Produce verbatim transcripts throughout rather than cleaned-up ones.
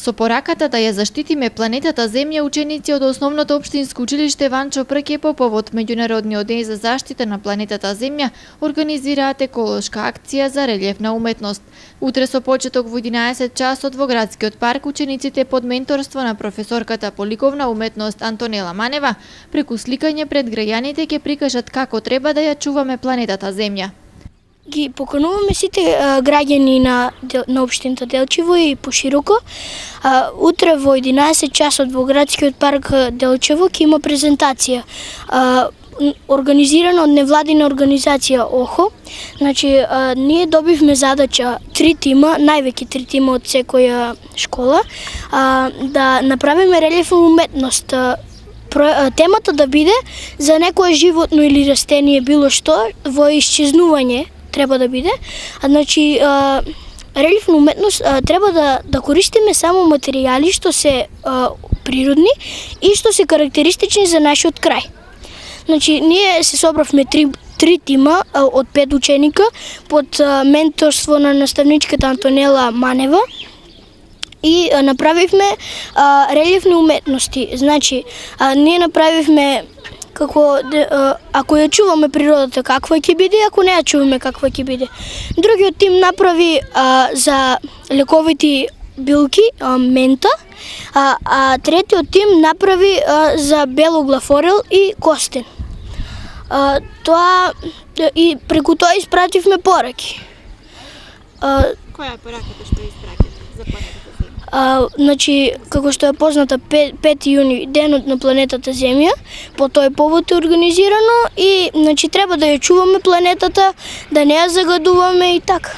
Со пораката да ја заштитиме планетата Земја, ученици од Основното општинско училиште Ванчо Прке по повод Меѓународниот ден за заштита на планетата Земја организираат еколошка акција за релјефна уметност. Утре со почеток во единаесет часот во градскиот парк, учениците под менторство на професорката по ликовна уметност Антонела Манева преку сликање пред граѓаните ќе прикажат како треба да ја чуваме планетата Земја. Ги покануваме сите а, граѓани на, на општината Делчево и пошироко. А, утре во единаесет часот во градскиот парк Делчево ќе има презентација а, организирана од невладина организација ОХО. Значи, а, ние добивме задача три тима, највеќе три тима од секоја школа, а, да направиме релјефна уметност. Темата да биде за некое животно или растение, било што, во исчезнување треба да биде. А, значи, а, релјефна уметност а, треба да, да користиме само материјали што се а, природни и што се карактеристични за нашиот крај. Значи, ние се собравме три, три тима а, од пет ученика под а, менторство на наставничката Антонела Манева и а, направивме а, релјефни уметности. Значи, а, ние направивме како ако ја чуваме природата каква ќе биде, ако не ја чуваме каква ќе биде. Другиот тим направи а, за лековити билки, а, мента, а, а третиот тим направи а, за белоглафорел и костен. А, тоа и преку тоа испративме пораки. А, Која е пораката што испратите за планетата Земја? А, значи, како што е позната, пети јуни, денот на планетата Земја, по тој повод е организирано и значи треба да ја чуваме планетата, да не ја загадуваме и така.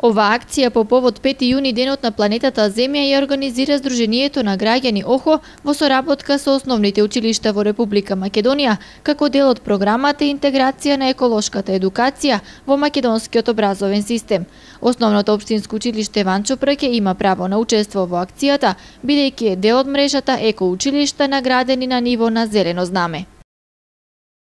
Ова акција по повод пети јуни, денот на планетата Земја, ја организира Сдруженијето на граѓани ОХО во соработка со основните училишта во Република Македонија, како дел од програмата интеграција на еколошката едукација во македонскиот образовен систем. Основното општинско училиште Ванчо Прке има право на учество во акцијата, бидејќи е дел од мрежата еко училишта наградени на ниво на зелено знаме.